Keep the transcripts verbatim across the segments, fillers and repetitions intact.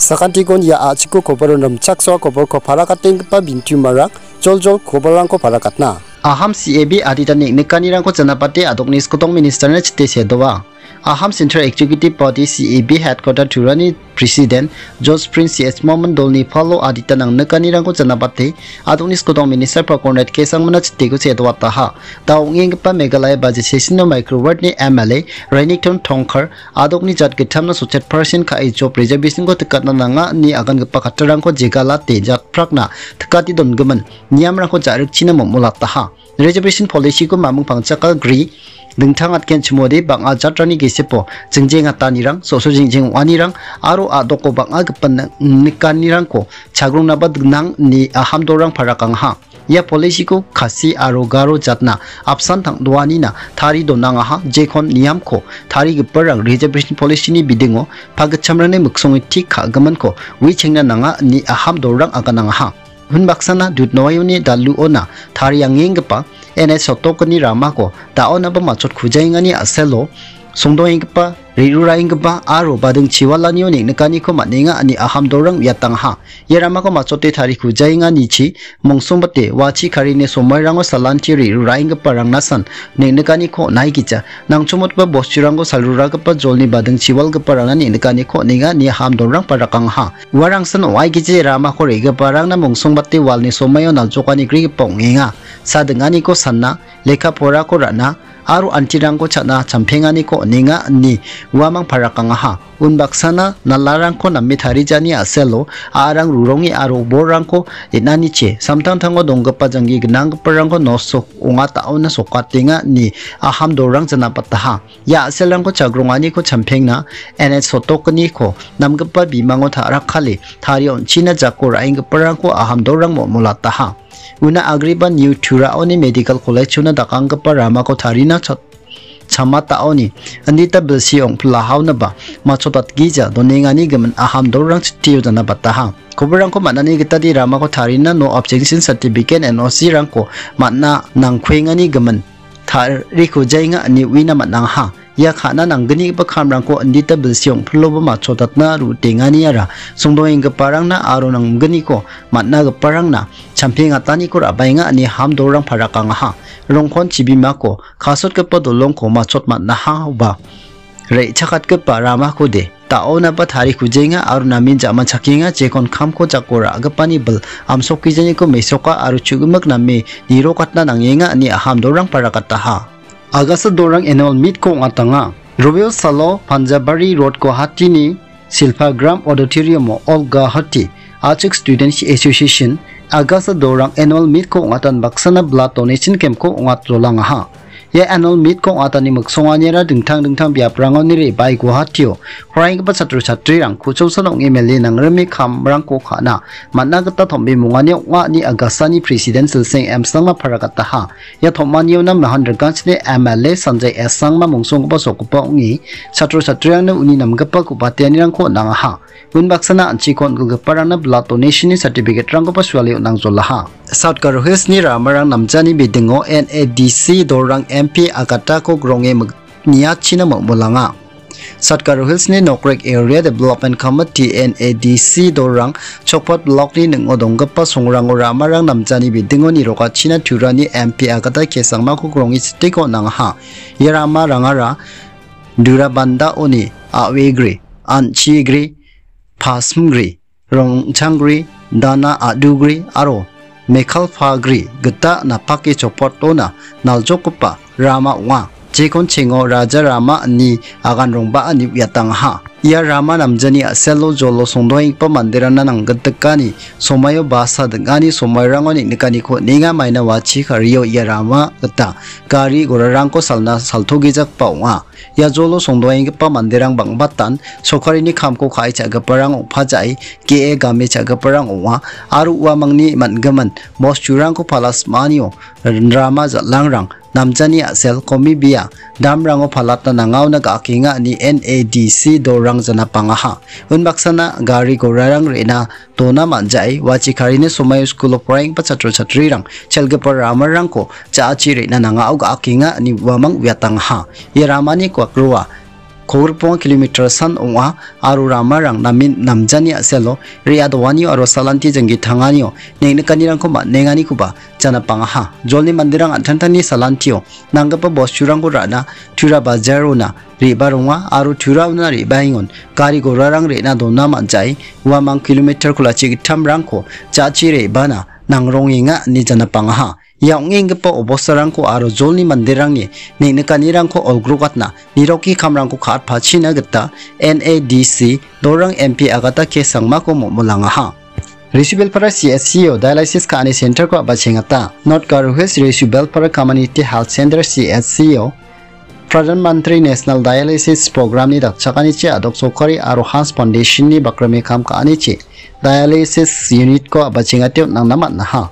Sakantikon ia a·chiko koboro rimchaksoa koborko parakatenggipa bintiumarang joljol koborrangko parakatna. Aham C A B adita neng·nikanirangko janapate a·dokni skotong ministerna chite sedoa. Aham Central Executive Body C A B Headquarter Turani President George Prince C S Mohammed dolni palo adita nang·nikanirangko janapate a·dokni skotong minister Pakonret K Sangmana chiteko sedoataha. Da ong·enggipa Meghalaya budget session-o microward-ni M L A Renikton Tongkhar a·dokni jatgittamna sotchet percent ka·e job reservation-ko tikatna nanga ine agangipa kattarangko jegalate jatprakna tikate dongimin niamrangko ja·rikchina momolataha. Reservation policy-ko mamung pangchaka gri dingtang atgen chimode bang·a jatrangni gesepo jingjengatanirang, so·so jingjeng ong·anirang aro a·doko bang·a gipin nikanirangko chagrongna ba gnang ine aham dorang parakangaha. Ia policy-ko Khasi aro Garo jatna apsan tang·doanina tari donangaha, jekon niamko tarigiparang reservation policy-ni bidingo pagitchamrangni miksonge tik ka·giminko uichengna nanga ine aham dorang aganangaha. Unbaksana Dudnoayoni daluona tariangenggipa N H sotokni ramako da·onaba matchot kujaengani a·selo songdoenggipa, re·ruraenggipa aro bading chiwalanio neng·nikaniko man·enga ine aham dorang uiatangaha. Ia ramako matchote tari kujaenganichi mongsongbate wachi karini somoirango salanti re·ruraenggiparangna san neng·nikaniko on·aigija. Nangchomotgipa bosturangko salruragipa jolni bading chiwalgiparangna neng·nikaniko on·enga ine aham dorang parakangaha. Uarangsan ong·aigije ramako re·giparangna mongsongbate walni somaio naljokani grigipa ong·enga. Sadinganiko sana, lekka porako ra·na, aro antirangko cha·na champenganiko on·enga ine uamang parakangaha. Unbaksana nalarangko name tarijani a·selo a·arang ruronge aro borrangko den·anichi samtangtango donggipa janggi gnanggiparangko nosto ong·atao·na sokatenga ine aham dorang janapataha. Ia a·selrangko chagronganiko champengna N H sotokniko namgipa bimango ta·rakkale tarie on·china jako ra·enggiparangko aham dorang mo·molataha. Una agreba New Turaoni Medical College-ona dakanggipa ramako tarina cha-, chamataoni andita bilsi ong·pilahaonaba matchotatgija donengani gimin aham dorang chitio janabataha. Koborrangko man·ani gitade ramako tarina no objection certificate N O C-rangko man·a nangkuengani gimin tariko jaenga ine uina man·angaha. Ia ka·na nanggnigipa kamrangko indita bilsi ong·piloba matchotatna ru·tenganiara songdoenggiparangna aro nanggniko man·agiparangna champengataniko ra·baenga ine hamdolrang parakangaha. Rongkon chibimako kasotgipa dolongko matchot man·aha oba re·chakatgipa ramakode da·onaba tarikujenga aro namen ja·manchakenga, jekon kamko jako ra·gipani bil amsokijaniko mesoka aro chu·gimik name nirokatna nangenga ine hamdolrang parakataha. Agasa dorang annual meet-ko ong·atanga. Robio salo Panjabari Road Guwahati-ni Silpagram Auditorium-o All Guwahati Achik Students Association Agasa dorang annual meet-ko ong·atan baksana blood donation camp-ko ong·atjolangaha. Ia annual meet-ko ong·atani miksonganiara dingtang dingtang biaprangoni re·bae Guwahati-o poraienggipa chatro chatrirang ku·chongsan ong·e mele nangrime kamrangko ka·na man·a gita tom·bimongani ong·a ine Agasani President Silseng M Sangma parakataha. Ia tom·aniona mahan rikanchini M L A Sanjay S Sangma mongsonggipa sokgipa ong·e chatro chatrirangna uni namgipa ku·bateanirangko on·angaha. Unbaksana an·chiko on·gilgiparangna blood donation-ni certificate-rangkoba suale on·angjolaha. South Garo Hills-ni ramarang namjani bidingo N A D C dorang M P Agatako gronge mig-, niachina mol·molanga. South Garo Hills-ni Nokrek Area Development Committee, N A D C dorang Chokpat Block-ni ning·o donggipa songrango ramarang namjani bidingo nirokachina turani M P Agata Kesangmako gronge chiteko on·angaha. Ia ramarangara Durabandaoni A Wegre, An Chigre, Pasimgre, Rongchanggre, Dana Adugre aro Mekhalpagre gita napake Chokpatona naljokgipa rama ong·a. Jekon chengo Raja Rama ine agan rongba ine uiatangaha. Ia rama namjani a·selo jolo songdoenggipa manderangna nanggitikani somaio basa ding·ani somairango neng·nikaniko on·enga, maina wachi kario ia rama gita gari gorarangko salna saltogejakba ong·a. Ia jolo songdoenggipa manderang bang·batan sorkarini kamko ka·e cha·giparang ong·pajae ge·e game cha·giparang ong·a aro uamangni man·gimin bosturangko pala sim·anio rama jal·angrang namjani a·sel komibia damrango palatna nangaona ga·akenga ine N A D C dorang janapangaha. Unbaksana gari gorarang re·na dona man·jae, wachi karini somaio skulo poraienggipa chatro chatrirang chelgipa ramarangko ja·achi re·na nangao ga·akenga ine uamang uiatangaha. Ia ramani kuakroa kolgrikbonga kilometer san ong·a aro ramarang namen namjani a·selo re·a doanio aro salanti janggi tanganio neng·nikanirangko man·enganikoba janapangaha. Jolni manderang an·tangtangni salantio nanggipa bosturangko ra·na Tura bajarona re·baronga aro Turaona re·baengon gari gorarang re·na dona man·jae uamang kilometer kolachi gittamrangko ja·chi re·bana nangrongenga ine janapangaha. Ia ong·enggipa obostarangko aro jolni manderangni neng·nikanirangko olgrokatna niroki kamrangko ka·atpachina gita N A D C Dorang M P Agatha K Sangmako momollangaha. Risubelpara C H C O dialysis ka·ani centerko a·bachengata. North Garo Hills Risubelpara Community Health Center C H C O Pradhan Mantri National Dialysis Programni dakchakanichi a·dok sorkari aro Hans Foundationni bakrame kam ka·anichi dialysis unitko a·bachengate on·angna man·aha.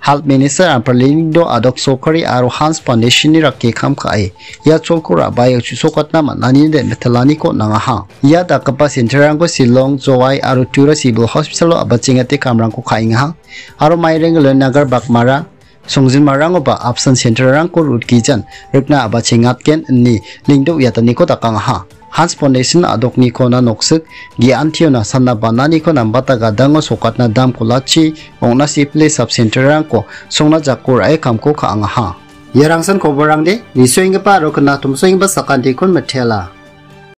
Health Minister Amparlingdo a·dok sorkari aro Hans Foundationni rake kam ka·e ia cholko ra·bae chu·sokatna man·ani de·mitilaniko on·angaha. Ia dakgipa centerrangko Shillong, Jowai aro Tura Civil Hospitalo a·bachengate kamrangko ka·engaha. Aro Maireng, Lanagar, Bakmara, Songjinmarangoba apsan centerrangko rutgijan rikna a·bachengatgen ine lingdo uiataniko dakangaha. Hans Foundation a·doknikona noksik ge·antiona sanna bananiko nambata gadango sokatna dam kolachi ong·na sipile sub centerrangko songna jako ra·e kamko ka·angaha. Ia rangsan koborangde nisoenggipa aro knatomsoenggipa sakantikon mitela.